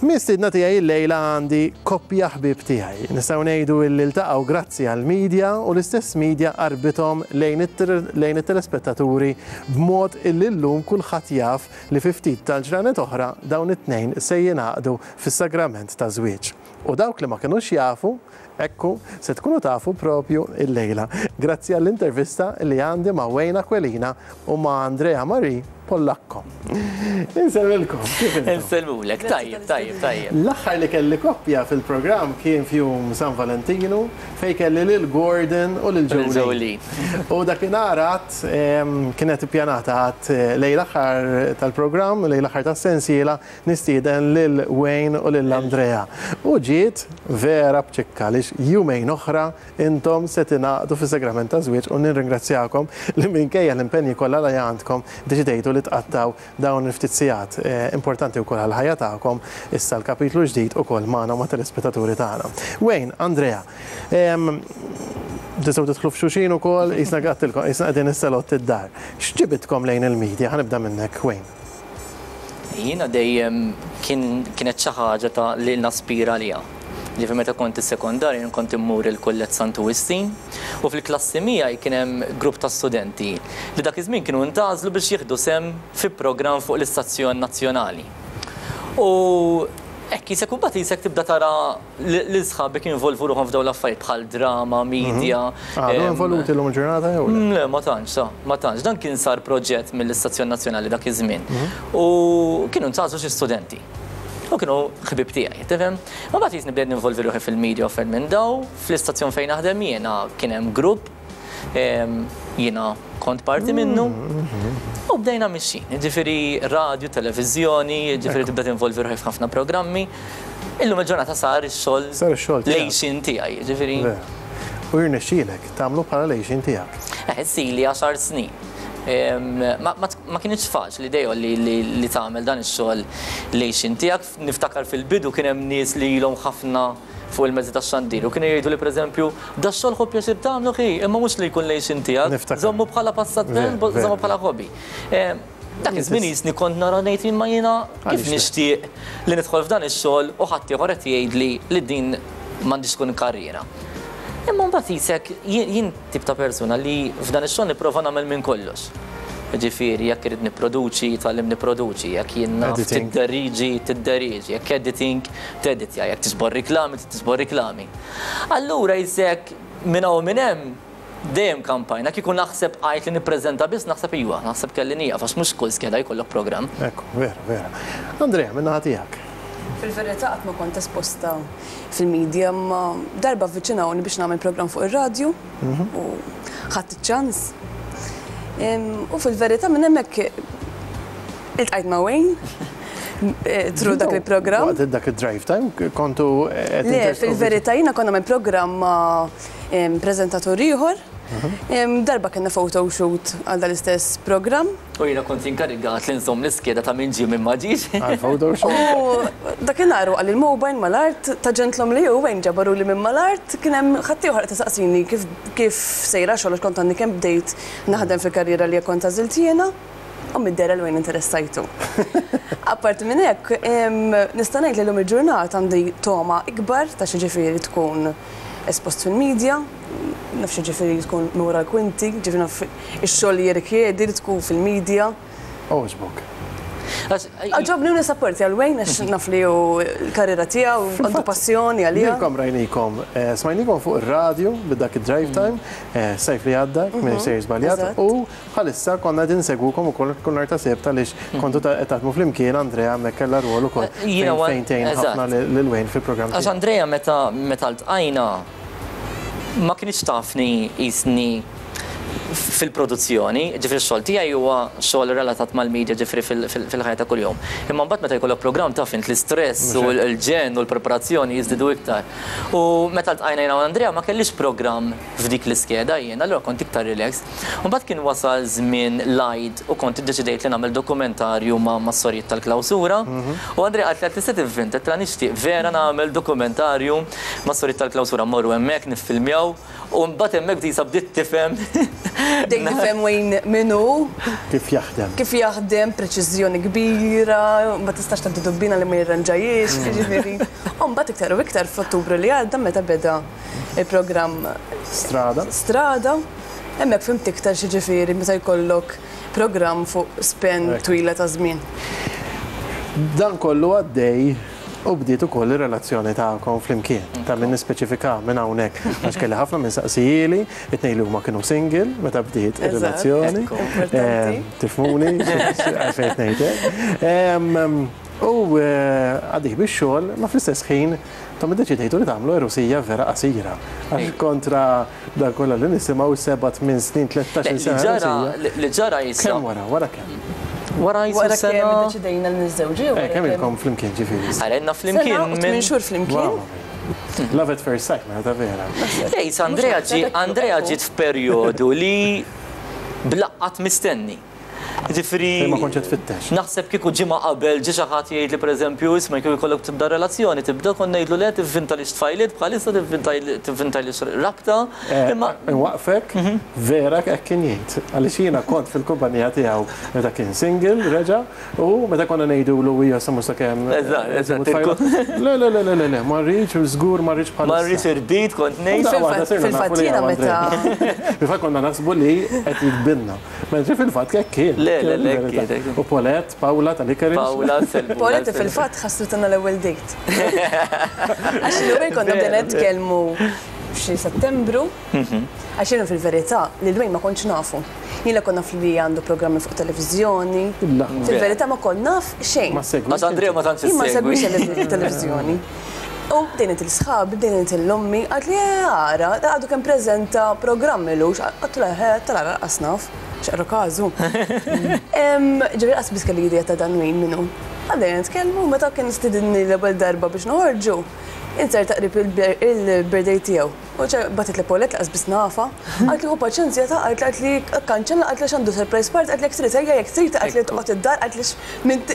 Mistiedna tiegħi llejla għandi koppja ħbieb tiegħi. Nistgħu ngħidu illi ltaqgħu grazzi għall-media u l-istess media qarbithom lejn it-telespettaturi b'mod illi llum kulħadd jaf li fi ftit tal-ġranet oħra dawn it-tnejn se jingħaqdu fis-sagrament taż-żwieġ. U dawk li ma kinux jafu, ekku, se tkunu tafu propju illejla. Grazzi għall-intervista li għandi ma' Wayne Aquilina u ma' Andrea Marie Pollacco. Insellmilkom, kif intom? Insellmulek, tajjeb, tajjeb, tajjeb. L-aħħar li kelli koppja fil-programm kien f'jum San Valentinu fejn kelli lil Gordon u lil Jolene. U dakinhar għad kienet ippjanata għad lejn l-aħħar tal-programm, lejn l-aħħar tas-sensiela, Nistieden lil Wayne u lil Andrea. U ġiet vera b'ċikka għaliex jumejn oħra intom se tingħaqdu fis-sagrament taż-żwieġ u nirringrazzjakom li minkejja l-impenji kollha li għandkom deċidejtu li tqattgħu dawn il-ftit sigħat importanti wkoll għall-ħajja tagħkom issa l-kapitlu ġdid ukoll magħna u mat-telespettaturi tagħna. Wayne, Andrea, tistgħu tidħlu f'xulxin ukoll, qisna għadtilkom, qisna qegħdin is-salott id-dar. X'ġibidkom lejn il-media? Ħa nibda minnek, Wayne. Jiena dejjem kien kienet xi ħaġa ta' li naspira għaliha. Ġifieri meta kont is-sekondarju jien kont immur il-Kulleġġ Santu Wistin u fil-klassi miegħi kien hemm grupp ta' studenti li dak iż-żmien kienu ntgħażlu biex jieħdu sehem fi programm fuq l-istazzjon nazzjonali. U hekk qisek u mbagħad qisek tibda tara lil sħabek jinvolvu ruħhom f'dawn l-affarijiet bħal drama, media. Għadhom involuti llum il-ġurnata jew le? Le, ma tantx, sa, ma tantx. Dan kien sar proġett mill-Istazzjon Nazzjonali dak iż-żmien. U kienu ntgħażlu xi studenti. U kienu ħbieb tiegħi, tifhem? Ma mbagħad jisni bdejt ninvolvi ruħi fil-media u affarijiet minn daw, fl-istazzjon fejn naħdem jiena kien hemm grupp Jiena kont parti minnu u bdejna mixjin. Jiġifieri radju, televiżjoni, jiġifieri tibda tinvolvi ruħi f'ħafna programmi. Illum il-ġurnata sar ix-xogħol. Sar ix-xogħol tiegħek. L-għixien tiegħi, jiġifieri. U jirnexxielek tagħmlu bħala l-għixien tiegħek. Eh, issili għaxar snin. Ma kinitx faċli dejjem li tagħmel dan ix-xogħol l-għixien tiegħek. Niftakar fil-bidu kien hemm nies li ilhom ħafna fuq il-mezzi tax-xandir u kienu jgħiduli pereżempju, dax-xogħol ħu pjaċir tagħmlu ħi, imma mhux li jkun l-għixien tiegħek, żommu bħala passatemp, żommu bħala hobby. Dak iż-żmien qisni kont nara ngħid imma jiena kif nixtieq li nidħol f'dan ix-xogħol u ħaddieħor qed jgħidli li din m'għandhiex tkun karriera. Imma mbagħad qisek jien tip ta' persuna li f'dan ix-xogħol nipprova nagħmel minn kollox. Jiġifieri jekk irrid nipproduċi, tgħallimt nipproduċi, jekk jien naf tidderiġi, tidderiġi, jekk editing, teditja, jekk tiġbor riklami, tiġbor riklami. Allura jisek minn hawn minn hemm dejjem kampajna, kieku naħseb għajt li nippreżenta biss naħseb iva, naħseb kelli nieqaf għax mhux kull skeda jkollok programm. Ekku, vera, vera. Andrea, minn naħa tiegħek. Fil-verità qatt ma kont esposta fil-media imma darba avviċinawni biex nagħmel programm fuq ir-radju u ħadt iċ-ċans. U fil-verità minn hemmhekk iltqajt ma' Wayne through dak il-programm. Waqt dak id-drive time kontu qed Le, fil-verità jiena kont nagħmel programm ma' preżentatur ieħor. Darba kellna photo shoot għal dal-istess programm. U jiena kont inkarigat li nżomm l-iskeda ta' min ġie min ma ġiex. Għal-photo shoot. U dakinhar waqa' l-mobile mal-art ta' ġentlom li hu Wayne ġabaruli minn mal-art kien hemm ħaddieħor qed isaqsini kif kif sejra x-xogħol għax kont għadni kemm bdejt naħdem fil-karriera li kont għażilt jiena. U mid-dehra 'l Wayne interessajtu. Apparti minn hekk, nista' ngħid li llum il-ġurnata għandi togħma ikbar ta' x'jiġifieri tkun espost fil-media, naf x'jiġifieri tkun minn wara l-kwinti, jiġifieri naf ix-xogħol li jirrikjedi li tkun fil-media. Għoġbok? Għoġobni u nisapportja 'l Wayne għax naf li hu l-karriera tiegħu, għandu passjoni għaliha. Lilkom rajnikom, smajnikom fuq ir-radju b'dak id-drive time, s-sajf li għadda, jekk m'iniex sejjer żbaljat, u Bħalissa konna qegħdin insegwukom ukoll kull nhar ta' Sibt għaliex kontu qed taħdmu flimkien, Andrea hemmhekk kellha rwol ukoll fejn tgħin ħafna lil Wayne fil-programm tiegħu. Għax Andrea meta meta ltqajna ma kinitx tafni qisni fil-produzzjoni, ġifieri x-xogħol tiegħi huwa xogħol relatat mal-media ġifieri fil-ħajja ta' kuljum. Imma mbagħad meta jkollok programm taf int l-istress u l-ġenn u l-preparazzjoni jiżdiedu iktar. U meta ltqajna jiena u Andrea ma kellix programm f'dik l-iskeda jien, allura kont iktar relaxed. U mbagħad kien wasal żmien l-Għid u kont iddeċidejt li nagħmel dokumentarju ma' mas-sorijiet tal-klawsura. U Andrea qaltli għad tista' tivvinta, għedtilha nixtieq vera nagħmel dokumentarju mas-sorijiet tal-klawsura, mmorru hemmhekk niffilmjaw u mbagħad hemmhekk disa bdiet tifhem Bdejt nifhem Wayne min hu. Kif jaħdem. Kif jaħdem, preċiżjoni kbira, ma tistax tgħaddi dubbina li ma jirranġahiex, jiġifieri. U mbagħad iktar u iktar f'Ottubru li għadda meta beda il-programm Strada. Strada, hemmhekk fhimt iktar x'jiġifieri meta jkollok programm fuq span twila ta' żmien. Dan kollu għaddej u bdiet ukoll ir-relazzjoni tagħkom flimkien. Ta' min nispeċifika minn hawnhekk għax kelli ħafna min saqsijieli, it-tnejn li huma kienu single meta bdiet ir-relazzjoni. Tifhmuni għalfejn qed ngħid hekk. U għaddej bix-xogħol, ma fl-istess ħin intom iddeċidejtu li tagħmlu għerusija vera qasira. Għax kontra dan kollha li nisimgħu 7, 8 snin, 13-il sena għerusija. Li ġara jisa. Kemm wara, wara kemm? Wara jisu Wara sena. kemm iddeċidejna li niżżewġu jew Eh, kemm ilkom flimkien ġifieri? Ara ilna flimkien. Sena u 8 xhur flimkien. Love at first sight, mela ta' vera. Lejs, Andrea ġi Andrea ġiet f'perjodu li blaqqat mistenni. Ġifieri. Fejn ma kontx qed tfittex. Naħseb kieku ġimgħa qabel ġie xi ħadd jgħidli pereżempju isma' kieku jkollok tibda relazzjoni tibda kont ngħidlu le tivvintalix tfajliet bħalissa tivvintalix rabta. Imma. Inwaqqfek, vera hekk kien jgħid. Għaliex jiena kont fil-kumpanija tiegħu meta kien single reġa' u meta konna ngħidulu hija sa mhux sakemm. Eżatt, eżatt. Le, le, le, le, le, ma rridx, żgur ma rridx bħalissa. Ma rridx irbit kont ngħid. Fil-fatt jiena meta. Fil-fatt konna naħsbu li qed jikbinna. Mentri fil-fatt hekk kien. Le, le, le, hekk kien, hekk kien. U Paulette, Paula tal-Icarus. Paula, sellmu. Paulette fil-fatt ħassritna l-ewwel date. Għax l-ewwel konna bdejna nitkellmu f'xi Settembru. Għax jiena fil-verità lil Wayne ma kontx nafu. Jien la kont naf li għandu programmi fuq televiżjoni. Fil-verità ma kont naf xejn. Ma ssegwix. Għax Andrea ma tantx Jien ma issegwi. nsegwix il-televiżjoni. U bdejna ngħid lil sħabi, bdejna ngħid lil ommi, qaltli eh ara, għadu kemm preżenta programm ilux, għedtulha eħe, tal-ara lanqas naf. X'qarru każu. Ġifieri qas biss kelli idea ta' dan Wayne min hu. Għaddejna nitkellmu u meta kien stidinni l-ewwel darba biex noħorġu, inzerta qrib il-birthday tiegħu. U bagħtitli Paulette li qas biss nafha. Qaltli ħu paċenzja ta' qaltli qaltli kkanċella qaltli għax għandu surprise party qaltli jekk trid ejja jekk trid qaltli toqgħod id-dar qaltli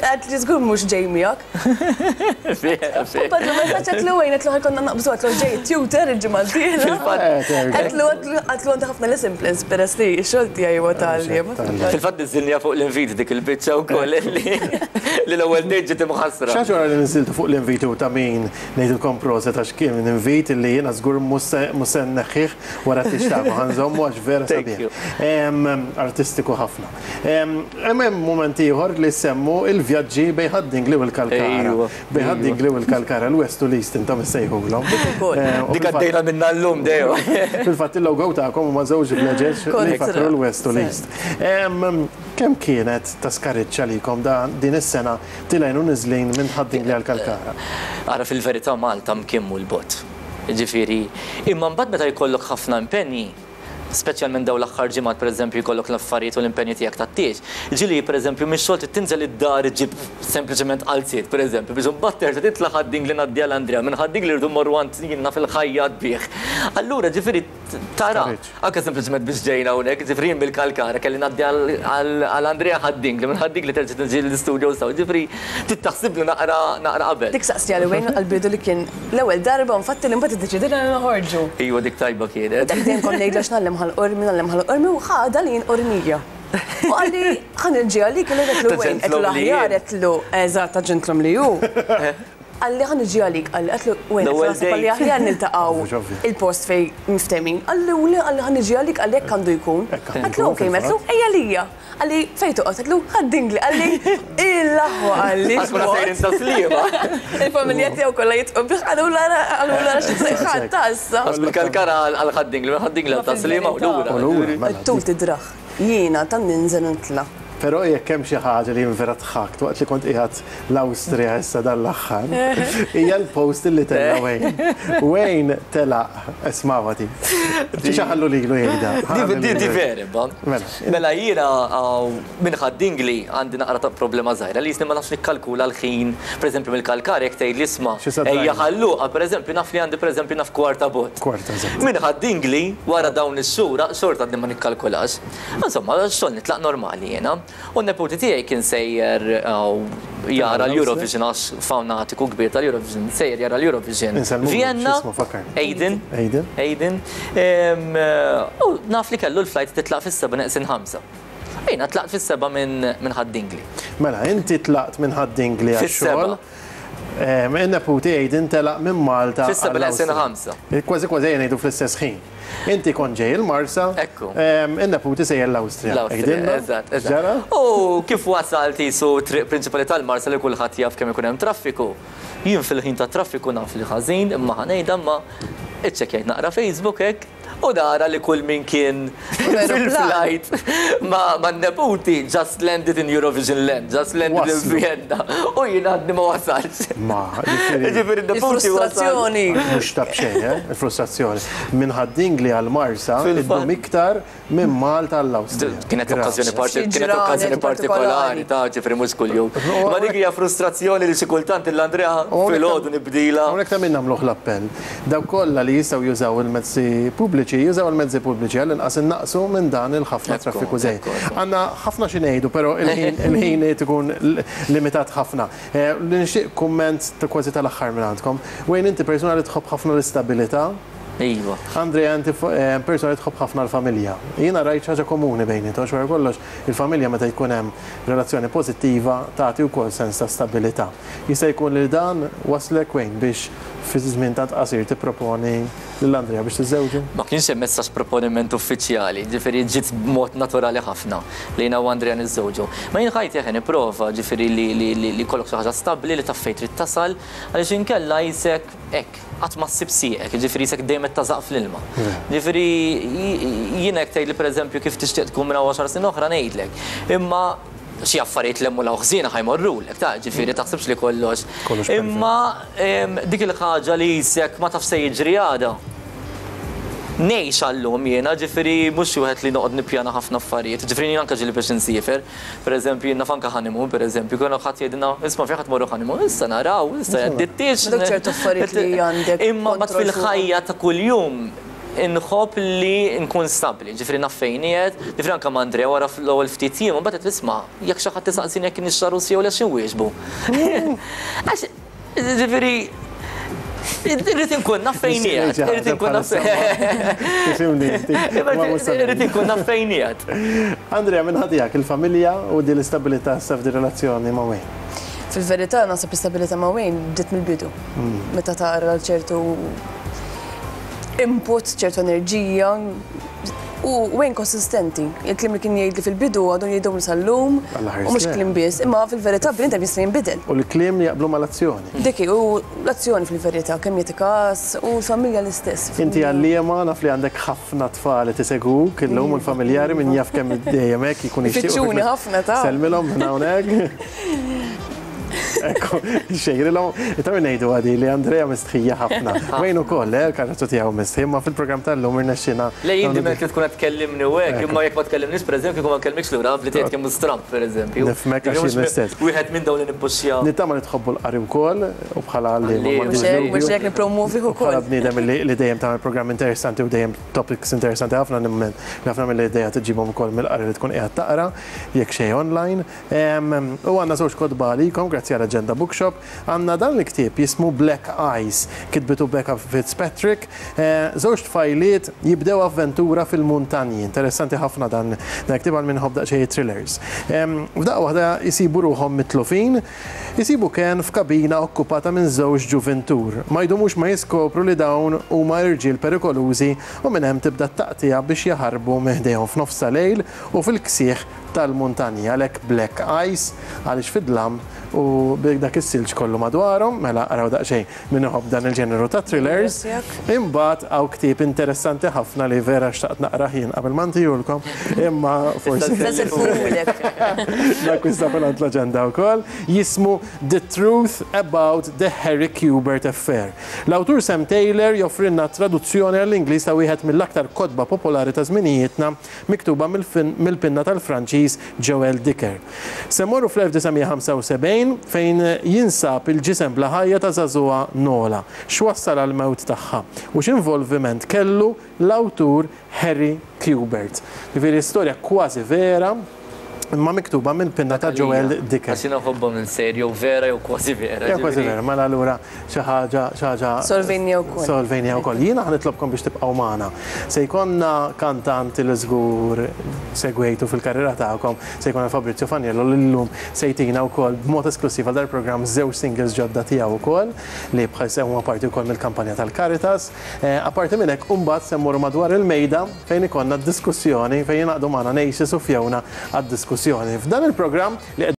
qaltli żgur mhux ġej miegħek. U bagħatlu messaġġ għedtlu Wayne għedtlu ħa jkollna naqbżu għedtlu ġej it-tutor il-ġimgħa d-dieħla. Għedtlu għedtlu għandi ħafna lesson plans peress li x-xogħol tiegħi huwa ta' għalliem. Fil-fatt niżżilniha fuq l-invit dik il-biċċa wkoll li l-ewwel date ġiet imħassra. Xi ħaġa oħra li niżżiltu fuq l-invit u ta' min ngħidilkom proset għax kien invit li jiena żgur mhux se nneħħih wara t-tieġ tagħkom, ħa nżommu għax vera sabiħ. Artistiku ħafna. Hemm hemm mument ieħor li ssemmu il-vjaġġi bejn Ħad-Dingli u l-Kalkara. Bejn Ħad-Dingli u l-Kalkara, l-West u l-East intom issejħulhom. Dik ukoll. Dik għaddejna minnha llum dejjem. Fil-fatt il-logo tagħkom huma żewġ vleġeġ li jfakkru l-West u l-East. Kemm kienet ta' skariġġ għalikom din is-sena tilgħin u niżlin minn Ħad-Dingli għal Kalkara? Ara fil-verità Malta mkien mhu 'l bogħod. Jiġifieri, imma mbagħad meta jkollok ħafna impenji, speċjalment dawn l-aħħar ġimgħat pereżempju jkollok l-affarijiet u l-impenji tiegħek tat-tieġ, ġieli pereżempju mix-xogħol trid tinżel id-dar iġġib sempliċement qalziet pereżempju biex imbagħad terġa' titla' Ħad-Dingli ngħaddi għal Andrea, minn Ħad-Dingli rridu mmorru għand jien naf il-ħajjat bih. Allura ġifieri tara, anke sempliċement biex ġejna hawnhekk, ġifieri jien mill-Kalkara kelli ngħaddi għal Andrea Ħad-Dingli, minn Ħad-Dingli terġa' tiġi l-istudio s'hawn, ġifieri trid taħsiblu naqra naqra qabel. Dik saqsija li Wayne għall-bidu li kien l-ewwel darba infatti li mbagħad iddeċidejna li noħorġu. Iva dik tajba kienet. U dak dejjem kont ngħidlu għax ngħallem Ħal Qormi, ngħallem Ħal Qormi u ħadha li jien Qormija. U qalli ħa niġi għalik, illejla għedtlu Wayne, għedtlu l-aħjar, għedtlu eżatt ta' ġentlom li hu. Qalli ħa niġi għalik, qalli għedtlu Wayne, għedtlu naħseb qalli aħjar niltaqgħu il-post fejn miftehmin. Qalli u le, qalli ħa niġi għalik, qalli hekk għandu jkun. Għedtlu ok, għedtlu ejja għalija. Qalli fejn toqgħod? Għedtlu Ħad-Dingli, qalli il-aħwa qalli. Għax konna sejrin ta' Sliema. Il-familja tiegħu kollha jidħqu bih qalulu ara qalulu ara xi ħadd ta' issa. Għax mill-Kalkara għal Ħad-Dingli, minn Ħad-Dingli għal ta' Sliema u lura. U lura, mela. It-tul tidrah. Jiena tant ninżel u nitla'. Però jekk hemm xi ħaġa li jien vera dħakt waqt li kont qiegħed l-Awstrija issa dan l-aħħar, hija l-post li tella' Wayne. Wayne telaq, ismagħha din. Xi ħallu lilu jgħidha. Di di vera imma. Mela. Mela jiena minn Ħad-Dingli għandi naqra ta' problema żgħira li jisni ma nafx nikkalkula l-ħin, pereżempju mill-Kalkara jekk tgħidli isma' ejja Ħal Luqa pereżempju naf li għandi pereżempju naf kwarta bogħod. Kwarta, eżatt. Minn Ħad-Dingli wara dawn ix-xhur xorta għadni ma nikkalkulax. Insomma, x-xogħol nitlaq normali jiena. U n-neputi tiegħi kien sejjer jara l-Eurovision għax fanatiku kbir tal-Eurovision, sejjer jara l-Eurovision. Vienna, Aiden. Aiden. Aiden. U naf li kellu l-flight titlaq fis-7 neqsin 5. Jiena tlaqt fis-7 minn Ħad-Dingli. Mela, inti tlaqt minn Ħad-Dingli għax-xogħol. In-neputi Aiden telaq minn Malta. Fis-7 neqsin 5. Kważi kważi ejja ngħidu fl-istess ħin. Inti kont ġej il-Marsa. Ekku. In-neputi sejjer l-Awstrija. L-Awstrija, eżatt. X'ġara? U kif wasalt qisu t-triq prinċipali tal-Marsa li kulħadd jaf kemm ikun hemm traffiku. Jien fil-ħin tat-traffiku naf li ħażin imma ħa ngħidha imma iċċekkjajt naqra Facebook hekk. U nara li kull min kien fil-flight man-neputi just landed in Eurovision land, just landed in Vienna. U jien għadni ma wasaltx. Ma, jiġifieri n-neputi wasal. Il-frustrazzjoni. Mhux ta' b'xejn, eh, il-frustrazzjoni. Minn Ħad-Dingli għal Marsa iddum iktar minn Malta għall-Awstrija. Kienet okkażjoni kienet okkażjoni partikolari ta' ġifieri mhux kuljum. Ma dik hija frustrazzjoni li xi kultant lil Andrea filgħodu nibdilha. Hawnhekk ta' min nagħmluh l-appell. Dawk kollha li jistgħu jużaw il-mezzi pubbliċi, jużaw il-mezzi pubbliċi għall-inqas innaqqsu minn dan il-ħafna traffiku żejjed. Għandna ħafna xi ngħidu, però il-ħin qed ikun limitat ħafna. Li nixtieq kumment kważi tal-aħħar mingħandkom. Wayne inti persuna li tħobb ħafna l-istabilità. Iva. Andrea inti persuna li tħobb ħafna l-familja. Jiena rajt xi ħaġa komuni bejniethom għax wara kollox il-familja meta jkun hemm relazzjoni pożittiva tagħti wkoll sens ta' stabilità. Jista' jkun li dan wasslek Wayne biex fi żmien tant qasir tipproponi lil Andrea biex tiżżewġu? Ma kienx hemm messaġġ proponiment uffiċjali, ġifieri ġiet b'mod naturali ħafna li jiena u Andrea niżżewġu. Ma jien ħajti eħe nipprova ġifieri li jkollok xi ħaġa stabbli li taf fejn trid tasal għaliex inkella qisek hekk, qatt ma ssib sieqek, jiġifieri qisek dejjem qed tażaq fl-ilma. Jiġifieri jiena jekk tgħidli pereżempju kif tixtieq tkun minn hawn għaxar snin oħra ngħidlek. Imma xi affarijiet 'l hemm u 'l hawn ħżiena ħa jmorrulek, ta' jiġifieri taħsibx li kollox. Imma dik il-ħaġa li qisek ma tafx se jiġri għada. Ngħix għal-lum jiena, jiġifieri mhux xi wieħed li noqgħod nippjana ħafna affarijiet. Jiġifieri jien anke ġieli biex insiefer, Per eżempju, jien naf anke honeymoon, per eżempju, kien ħadd jgħidilna, isma' fejn ħa tmorru honeymoon, issa naraw, issa jgħaddi t-tieġ. Dawk ċertu affarijiet li għandek. Imma mbagħad fil-ħajja ta' kuljum inħobb li nkun stabbli, ġifieri naf fejn qiegħed, ġifieri anke ma' Andrea wara l-ewwel ftit jiem, imbagħad għedt isma' jekk xi ħadd isaqsini jekk iniex għarus jew le x'inwieġbu. Għax Ġifieri, irrid inkun naf fejn qiegħed, irrid inkun naf Irrid inkun naf fejn qiegħed. Andrea, minn ħadijak il-familja u din l-istabilità issa f'din relazzjoni ma' Wayne? Fil-verità naħseb l-istabilità ma' Wayne bdiet mill-bidu. Meta tara ċertu input, ċertu enerġija, U Wayne konsistenti. Il-kliem li kien jgħidli fil-bidu għadu jgħidhom sal-lum. U mhux kliem biss, imma fil-verità bniedem jista' jinbidel. U l-kliem li jaqblu mal-azzjoni. Dik hi, u l-azzjoni fil-verità, kemm jagħti każ u l-familja l-istess. Inti għalliema naf li għandek ħafna tfal qed isegwuk illum u l-familjari min jaf kemm dejjem hekk jkun jixtiequ. Ifittxuni ħafna ta'. Sellmilhom minn hawnhekk. Ekku, xejrilhom. Ta' min ngħidu għadi li Andrea mistħija ħafna. Wayne ukoll, eh, il-karattru tiegħu mistħi, imma fil-programm tal-lum irnexxina. Le jien dejjem li tkun qed tkellimni u hekk, imma jekk ma tkellimniex pereżempju kieku ma nkellmikx lura naf li tgħid kemm hu stramb pereżempju. Nifhmek għax jien l-istess. Wieħed minn dawn li nippuxxja. Nittama li tħobbu l-qari wkoll u bħala għalliema m'għandix dubju. Mhux hekk nippromwovih ukoll. Bħala bniedem li dejjem tagħmel programm interessanti u dejjem topics interessanti ħafna nemmen li ħafna mill-ideat iġġibhom ukoll mill-qari li tkun qiegħed taqra, jekk xejn online. U għandna żewġ kotba għalikom grazzi għal Agenda Bookshop. Għandna dan il-ktieb jismu Black Eyes, kitbitu Becca Fitzpatrick. Żewġ tfajliet jibdew avventura fil-muntanji. Interessanti ħafna dan il-ktieb għal min iħobb daqsxejn thrillers. F'daqqa waħda jsibu ruħhom mitlufin, isibu kenn f'kabina okkupata minn żewġ ġuvintur. Ma jdumux ma jiskopru li dawn huma irġiel perikolużi u minn hemm tibda t-taqtigħa biex jaħarbu minn ħdejhom f'nofs ta' lejl u fil-ksieħ tal-muntanji, għalhekk black ice, għaliex fid-dlam u b'dak is-silġ kollu madwarhom, mela araw daqsxejn min iħobb dan il-ġeneru ta' thrillers. Imbagħad hawn ktieb interessanti ħafna li vera xtaqt naqrah jien qabel ma ntihulkom, imma forsi. Nakkwista mingħand l-aġenda wkoll, jismu The Truth About the Harry Quebert Affair. L-awtur Sam Taylor joffrilna traduzzjoni għall-Ingliż ta' wieħed mill-aktar kotba popolari ta' żminijietna miktuba mill-pinna tal-Franċiż Joël Dicker. Se mmorru fl-1975 fejn jinsab il-ġisem bla ħajja ta' żagħżugħa Nola. X'wassal għall-mewt tagħha u x'involviment kellu l-awtur Harry Quebert? Jiġifieri storja kważi vera. Imma miktuba mill-pinna ta' Joel Dicker. Għax jiena nħobbhom il-sejr jew vera jew kważi vera. Jew kważi vera, mela allura xi ħaġa xi ħaġa. Solvejnija wkoll. Solvejnija wkoll. Jiena ħa nitlobkom biex tibqgħu magħna. Se jkollna kantant li żgur segwejtu fil-karriera tagħkom, se jkollna Fabrizio Faniello li llum se jtina wkoll b'mod esklussiv għal dal-programm żewġ singles ġodda tiegħu wkoll li bħalissa huma parti wkoll mill-kampanja tal-Caritas. Apparti minn hekk, imbagħad se mmorru madwar il-mejda fejn ikollna diskussjoni fejn jingħaqdu magħna Naces u Fiona għad-diskussjoni. F'dan il-programm li qed.